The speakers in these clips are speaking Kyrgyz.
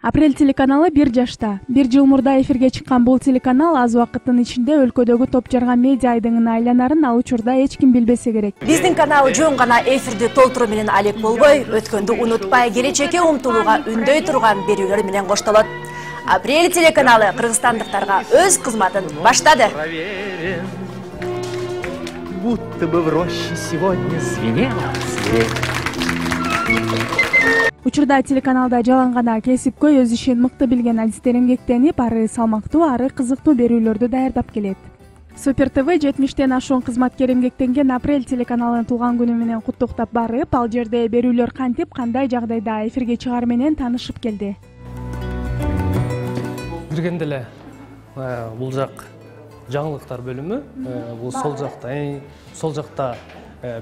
Апрель телеканалы 1 жашта. 1 жыл мурда эфирге чыккан бул телеканал аз убакыттын ичинде өлкөдөгү топ жарган медиа айдыңына айланарын ал учурда эч ким билбесе керек. Биздин канал жөн гана эфирди толтуруу менен алек болбой, өткөндү унутпай, келечекке умтулууга үндөй турган берүүлөр менен коштолот. Апрель телеканалы кыргызстандыктарга өз кызматын баштады. Будто бы в роще сегодня звенела свирель. Учурда телеканалда жалаң гана кесипкөй өз ишин мыкты билген адистер эмгектенип, ары салмактуу, ары кызыктуу берүүлөрдү даярдап келет. Супер ТВ 70тен ашуун кызматкер эмгектенген Апрель телеканалынын туулган күнү менен куттуктап барып, ал жерде берүүлөр кантип, кандай жагдайда эфирге чыгаар менен таанышып келди. Киргенде эле бул жак жаңылыктар бөлүмү, бул сол жакта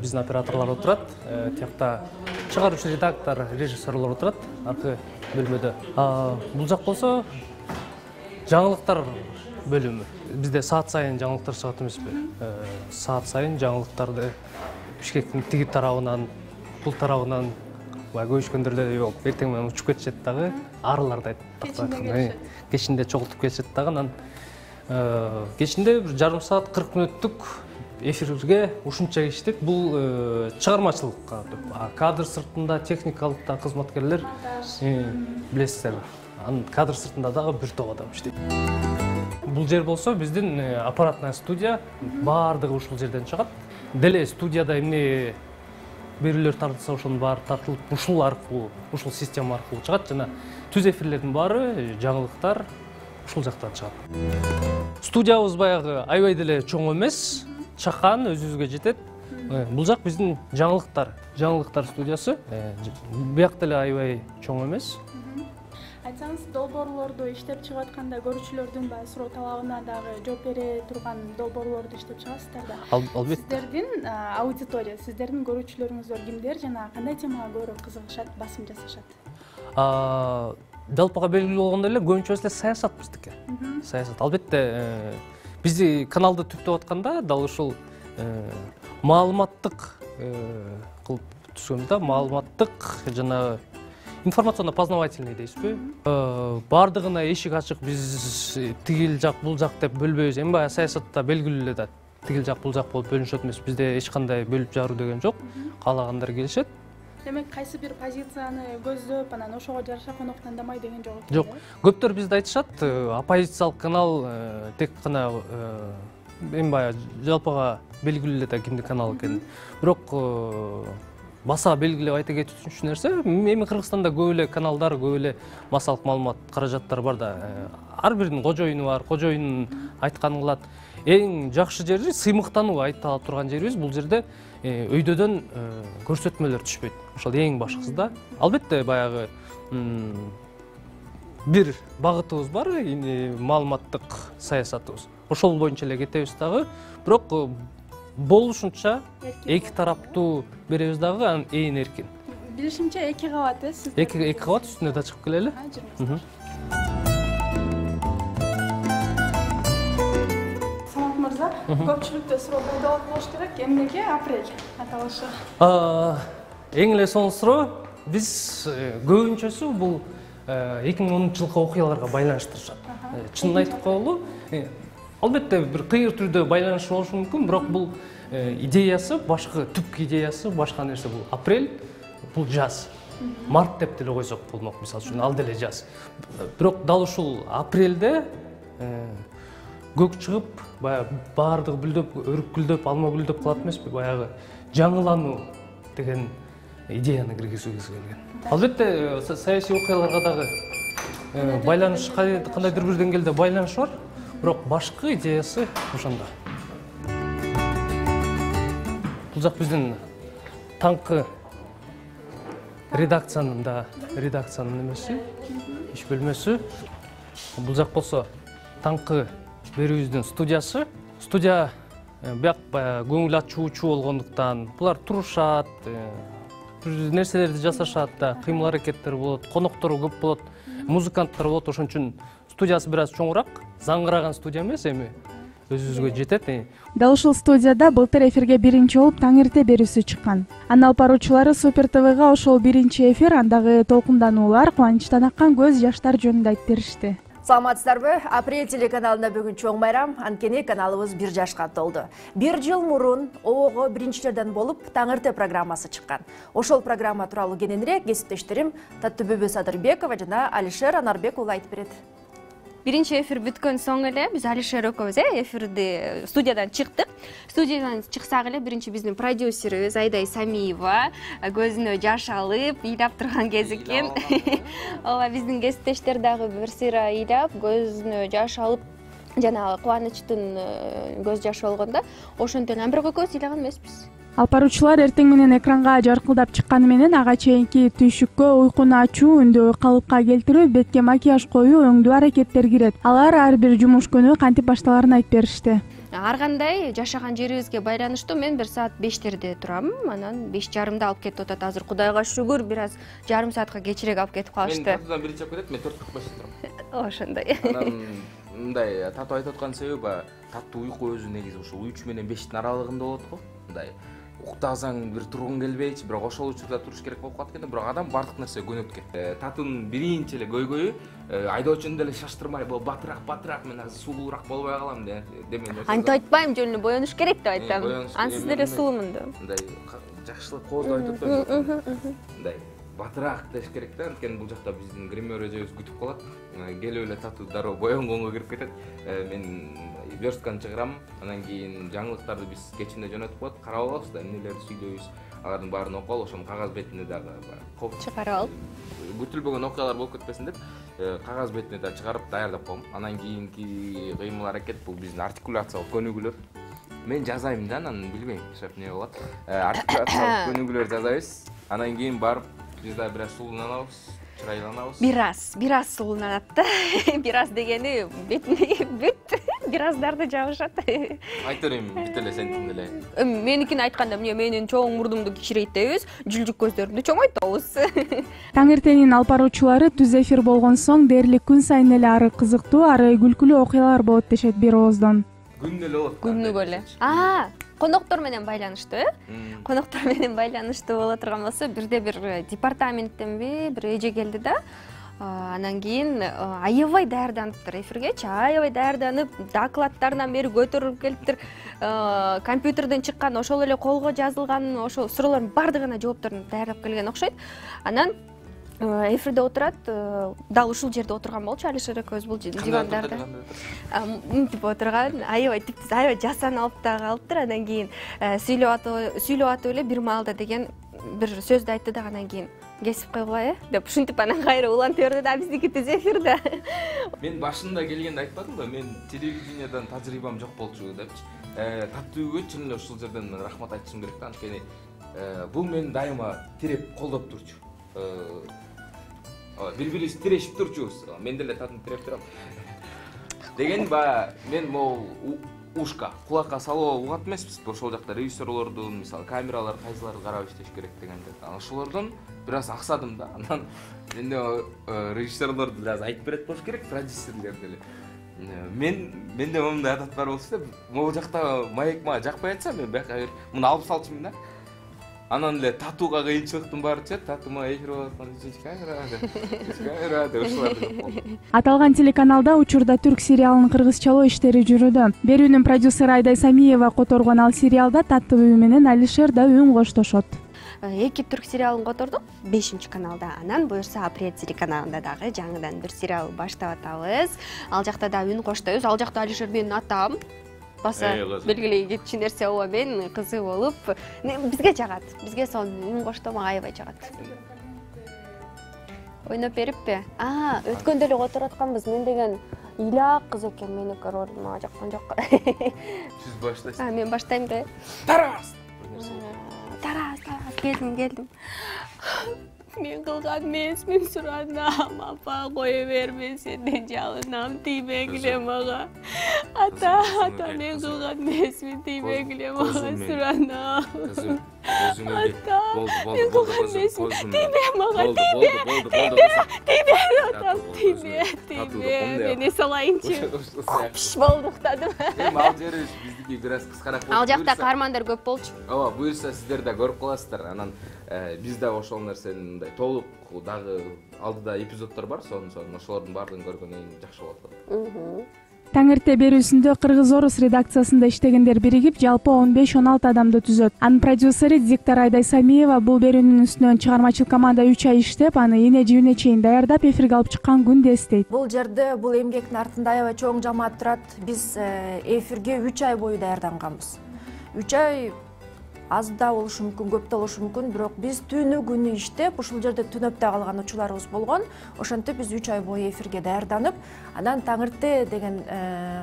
биздин операторлор отурат, тиякта чыгаруучу редактор, режиссерлор отурат, аркы бөлмөдө. Бул жак болсо жаңылыктар бөлүмү. Бизде саат сайын жаңылыктар чыгат эмеспи? Саат сайын жаңылыктарды Бишкектин тиги тарабынан, бул тарабынан көчкөндөр эле жок. Эртең менен учуп кетишет дагы, арыларды айтып кечинде чогултуп кетишет дагы. Анан кечинде бир жарым саат 40 мүнөттүк эфирге ушунча иштеп, бул чыгармачылыкка. Кадр сыртында техникалыкта кызматкерлер билесиздер. Анын кадр сыртында дагы бир топ адам иштейт. Бул жер болсо биздин аппаратная студия, баардыгы ушул жерден чыгат. Деле студияда эмне берүүлөр тартылса ошонун баары тартылып, ушул система аркылуу чыгат жана түз эфирлердин баары, жаңылыктар ушул жактан чыгат. Студиябыз баягы аябай деле чоң эмес, чакан, өзүбүзгө жетет. Бул жак биздин жаңылыктар студиясы. Бияк деле аябай чоң эмес. Айтсаңыз, долбоорлорду иштеп чыгып атканда көрүүчүлөрдүн суроо талабына дагы жооп бере турган долбоорлорду иштеп чыгасыздар да. Албетте. Сиздердин аудитория, сиздердин көрүүчүлөрүңүздөр кимдер жана кандай темага көбүрөөк кызыгышат, басым жасашат? Жалпыга белгилүү болгондой эле көбүнчөсү эле саясат биздики. Саясат. Албетте, бизди каналды түптөп атканда дал ушул маалыматтык кылып түшкөнбүз да, маалыматтык жана информационно-познавательный дейсизби? Бардыгына эшик ачык, биз тигил жак, бул жак деп бөлбөйбүз. Эми баягы саясатта белгилүү эле да, тигил жак, бул жак болуп бөлүнүшөт эмес. Бизде эч кандай бөлүп жаруу деген жок. Каалагандар келишет. Демек, кайсы бир позицияны көздөп, анан ошого жараша коноп тандамай деген жок. Жок. Көптөр бизде айтышат, оппозициялык канал тек гана эми баягы жалпыга белгилүү эле да кимдин каналы экенин. Бирок баса белгилеп айта кетүүчү нерсе, эми Кыргызстанда көп эле каналдар, көп эле массалык маалымат каражаттары бар да. Ар биринин кожоюну бар, кожоюнун айтканын кылат. Эң жакшы жери сыймыктануу айта турган жерибиз. Бул жерде өйдөдөн көрсөтмөлөр түшпөйт. Ошол эң башкысы да. Албетте баягы бир багытыбыз бар, маалыматтык саясатыбыз. Ошол боюнча эле кетебиз дагы. Бирок болушунча эки тараптуу беребиз дагы, анан ээн эркин. Билишимче 2 кабат сиз. 2 кабат үстүнө да чыгып келели. Самат мырза, көпчүлүктө суроо болот болуш керек, эмнеге Апрель аталышы? Эң эле сонун суроо. Биз көбүнчөсү бул 2010-жылкы окуяларга байланыштырышат. Чынын айтып коелу, албетте бир кыйыр түрдө байланышы болушу мүмкүн, бирок бул идеясы, башкы түпкү идеясы башка нерсе. Бул апрель, бул жаз. Март деп деле койсок болмок, мисалы үчүн, ал деле жаз. Бирок дал ушул апрелде көк чыгып, баягы баардыгы бүлдөп, өрүкүлдөп, алма гүлдөп калат эмеспи? Баягы жаңылануу деген идеяны киргизүүбүз келген. Албетте, саясий окуяларга дагы байланыш, кандайдыр бир деңгээлде байланыш бар. Бирок башкы идеясы ошондо. Бул жак биздин таңкы редакциянын немеси, иш бөлмөсү. Бул жак болсо таңкы берүүбүздүн студиясы. Студия бияк көңүл ачуучу болгондуктан булар турушат, бир нерселерди жасашат да, кыймыл аракеттер болот, коноктор көп болот, музыканттар болот. Ошон үчүн студиясы бир аз чоңураак, заңгыраган студия эмес, эми өзүбүзгө жетет. Дал ушул студияда былтыр эфирге биринчи болуп таң эрте берүүсү чыккан. Анын алып баруучулары Супер ТВга ошол биринчи эфир, андагы толкундануулар, кубанычтан аккан көз жаштар жөнүндө айтып беришти. Саламатсыздарбы? Апрель телеканалында бүгүн чоң байрам, анткени каналыбыз 1 жашка толду. 1 жыл мурун ООГо биринчилерден болуп таң эрте программасы чыккан. Ошол программа тууралуу кененирээк кесиптештерим Таттыбүбү Садырбекова жана Алишер Анарбек уулу айтып берет. Биринчи эфир бүткөн соң эле биз Алишер экөөбүз эфирди студиядан чыктык. Студиядан чыксак эле биринчи биздин продюсерибиз Айдай Самиева көзүнө жаш алып, ыйлап турган кез экен. Ооба, биздин кесиптештер дагы бир сыйра ыйлап, көзүнө жаш алып, жанагы кубанычтын көз жашы болгондо ошентип Амбирок экөөбүз ыйлаган эмеспиз. Алып баруучулар эртең менен экранга жаркылдап чыкканы менен ага чейинки түйшүккө уйкуну ачуу, үндү калыпка келтирүү, бетке макияж коюу, өңдүү аракеттер кирет. Алар ар бир жумуш күнү кантип башталарын айтып беришти. Ар кандай жашаган жерибизге байланыштуу мен 1 саат 5терде турам, анан 5:30 алып кетип атат. Азыр Кудайга шүгүр, бир аз жарым саатка кечирээк алып кетип калышты. Мен татуудан биринчи алып кетет, мен 4:45 турам. Ошондой. Анан мындай татуу айтып аткан себеби таттуу уйку өзү негизи ушул 3 менен 5тин аралыгында болот го. Мындай уктасаң бир тургуң келбейчи, бирок ошол учурда туруш керек болуп калат экен, бирок адам бардык нерсе көнөткөн. Татуунун биринчи эле көйгөйү айдоочуну деле шаштырмай, батыраак мен азыр сулуураак болбой калам деген нерсе. Антип айтпайм, жөн эле боёнуш керек деп айтам. Ансыз деле сулуумун деп. Мындай жакшылык кооздоп айтып атпаймынбы? Мындай батыраак деш керек да, анткени бул жакта биздин гример эжебиз күтүп калат. Келип эле татуу дароо боёнгонго кирип кетет. Мен верстканы чыгарам, анан кийин жаңылыктарды биз кечинде жөнөтүп коет, карап алабыз да, эмнелерди сүйлөйбүз, алардын баарын окуп алып, ошону кагаз бетине дагы чыгарып алып, күтүлбөгөн окуялар болуп кетпесин деп, кагаз бетине да чыгарып даярдап коем. Анан кийинки кыймыл аракет бул биздин артикуляциялык көнүгүүлөр. Мен жазайм да, анан билбейм, шап эмне болот. Артикуляциялык көнүгүүлөр жазабыз. Анан кийин барып биз да бир аз сулууланабыз, чырайланабыз. Бир аз сулууланат да. Бир аз дегени бүт бир аздарды жабышат. Айта берейин, бүт эле сентин эле. Меникини айтканда, эмне менин чоң мурдумду кичирейттейбиз, жүлжүк көздөрүмдү чоңойтабыз. Таң эртенин алып баруучулары түз эфир болгон соң дээрлик күн сайын эле ары кызыктуу, ары күлкүлүү окуялар болот дешет бир ооздон. Күнү эле болот. Күнүгө эле. Коноктор менен байланыштуу, Коноктор менен байланыштуу боло турган болсо, бирде бир департаменттенби бир эже келди да. Анан кийин аябай даярданыптыр эфиргечи, аябай даярданып, докладтарынан бери көтөрүлүп келиптир. Компьютерден чыккан, ошол эле колго жазылган ошол суроолордун бардыгына жоопторун даярдап келген окшойт. Анан эфирде отурат, дал ушул жерде отурган болчу Алишер экөөбүз бул дивандарда. Мынтип отурган, аябай типтиз, аябай жасан алып да калыптыр. Анан кийин сүйлөп атып эле бир маалда деген бир сөздү айтты да, анан кийин кесип койгула деп ушинтип анан кайра уланта берди да, биздики түз эфирде. Мен башында келгенде айтпадымбы, мен телевидениядан тажрыйбам жок болчу депчи. Таттууга чын эле ушул жерден рахмат айтышым керек да, анткени бул мени дайыма тиреп колдоп турчу. Бири-бирибизди тирешип турчубуз. Мен деле татын тиреп турам. Деген баягы мен могу ушка, кулакка салып угат эмеспиз. Ошол жакта режиссерлордун, мисалы, камералар кайсыларды карап иштеш керек дегенде. Ошолордон бир аз аксадым да. Анан менде режиссерлор бир аз айтып берет болуш керек, продюсерлер деле. Менде момундай адат бар болчу да, могу жакта маек мага жакпай атса, мен бияка муну алып салчумун да. Анан эле татууга кыйынчылыктын баары чет, татуума эфир болуп атканда камера деп ушуларды көп болду. Аталган телеканалда учурда түрк сериалынын кыргызчалоо иштери жүрүүдө. Берүүнүн продюсери Айдай Самиева которгон ал сериалда Таттыбүбү менен Алишер да үн коштошот. 2 түрк сериалын котордук 5-каналда. Анан буюрса Апрель телеканалында дагы жаңыдан бир сериал баштап атабыз. Ал жакта да үн коштойбуз. Ал жакта Алишер менин атам. Баса белгилей кетчү нерсе ооба, мен кызы болуп, бизге жагат. Бизге сон үн коштомок аябай жагат. Ойноп бериппи? Өткөндө эле которуп атканбыз. Мен деген ыйлак кыз экен, меники роль мага жаккан жок. Сиз баштайсыз. Мен баштайм да. Тарас. Келдим. Мен кылган эмесмин, суранам, апа кое берме, сенден жалынам, тийбегиле мага. Ата, мен кылган эмесмин, тийбегиле мага, суранам. Ата, мен кылган эмесмин, тийбе мага, тийбе, атам, мен эс алайынчы. Копш болду уктадым. Эми ал жери биздики бир аз кыскараак болду. Ал жакта каармандар көп болчу. Ооба, буюрса сиздер да көрүп каласыздар. Анан биз да ошол нерсени мындай толук дагы алдыда эпизоддор бар, ошолордун баардыгын көргөндөн кийин жакшы болот. Таң эрте берүүсүндө Кыргыз-Орус редакциясында иштегендер биригип, жалпы 15-16 адамды түзөт. Анын продюсери диктор Айдай Самиева бул берүүнүн үстүнөн чыгармачыл команда 3 ай иштеп, аны эне-жибине чейин даярдап, эфирге алып чыккан күндү эстейт. Бул жерде бул эмгектин артында аябай чоң жамаат турат. Биз эфирге 3 ай бою даярданганбыз. 3 ай аз да болушу мүмкүн, көп да болушу мүмкүн, бирок биз түнү күнү иштеп, ушул жерде түнөп да калган учурларыбыз болгон. Ошентип биз 3 ай бою эфирге даярданып, анан таң эрте деген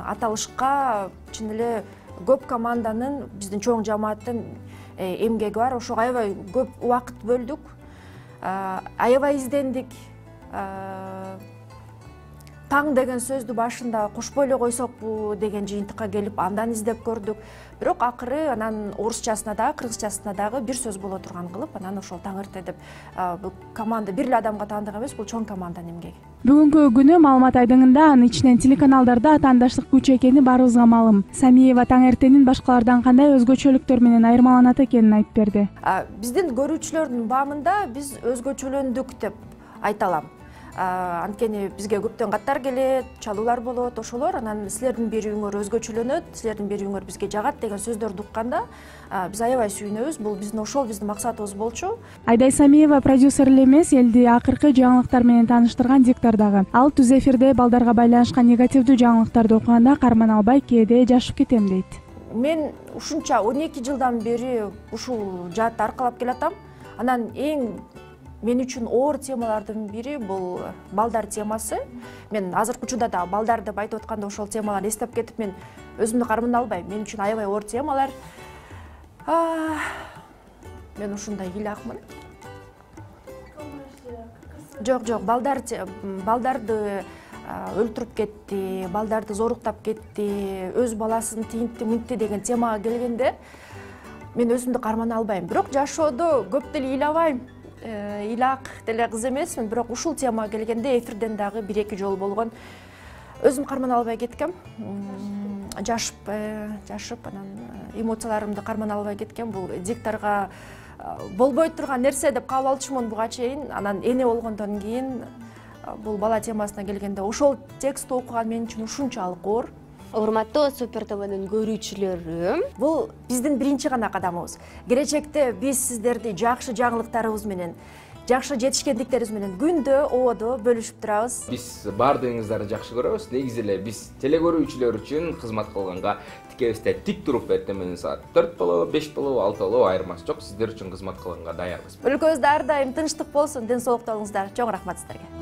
аталышка чын эле көп команданын, биздин чоң жамааттын эмгеги бар. Ошого аябай көп убакыт бөлдүк. Аябай издендик. Таң деген сөздү башында кошпой эле койсокпу деген жыйынтыкка келип, андан издеп көрдүк. Бирок акыры анан орусчасына дагы, кыргызчасына дагы бир сөз боло турган кылып, анан ошол таң эрте деп бул команда бир эле адамга таандык эмес, бул чоң команданын эмгеги. Бүгүнкү күнү маалымат айдыңында анын ичинен телеканалдарда атаандаштык күч экени баарыбызга маалым. Самиева таң эртенин башкалардан кандай өзгөчөлүктөр менен айырмаланат экенин айтып берди. Биздин көрүүчүлөрдүн баамында биз өзгөчөлөндүк деп айта алам. Анткени бизге көптөн каттар келет, чалуулар болот, ошолор анан силердин берүүңөр өзгөчөлөнөт, силердин берүүңөр бизге жагат деген сөздөрдү укканда биз аябай сүйүнөбүз. Бул биздин максатыбыз болчу. Айдай Самиева продюсер эле эмес, элди акыркы жаңылыктар менен тааныштырган диктор дагы. Ал түз эфирде балдарга байланышкан негативдүү жаңылыктарды окуганда карман албай кээде жашып кетем дейт. Мен ушунча 12 жылдан бери ушул жаатты аркалап келатам. Анан мен үчүн оор темалардын бири бул балдар темасы. Мен азыркы учурда да балдар деп айтып атканда ошол темаларды эстеп кетип, мен өзүмдү кармана албайм. Мен үчүн аябай оор темалар. Мен ушундай ыйлакмын. Жок, балдарды өлтүрүп кетти, балдарды зоруктап кетти, өз баласын тинтти, мынтти деген темага келгенде мен өзүмдү кармана албайм. Бирок жашоодо көп деле ыйлабайм. Ыйлак деле кыз эмесмин, бирок ушул темага келгенде эфирден дагы 1-2 жолу болгон. Өзүм кармана албай кеткем. Жашып анан эмоцияларымды кармана албай кеткем. Бул дикторго болбой турган нерсе деп кабыл алчумун буга чейин. Анан эне болгондон кийин бул бала темасына келгенде ошол текстти окуган мен үчүн ушунчалык оор. Урматтуу Супер ТВнын көрүүчүлөрү, бул биздин биринчи гана кадамыбыз. Келечекте биз сиздерди жакшы жаңылыктарыбыз менен, жакшы жетишкендиктерибиз менен күндө, ободо бөлүшүп турабыз. Биз баардыгыңыздарды жакшы көрөбүз. Негизи эле биз телекөрүүчүлөр үчүн кызмат кылганга тикебизде тик туруп эртең менен саат 4 болобу, 5 болобу, 6 болобу айырмасы жок. Сиздер үчүн кызмат кылганга даярбыз. Өлкөбүздө ар дайым тынчтык болсун, ден соолукта болуңуздар. Чоң рахмат сиздерге.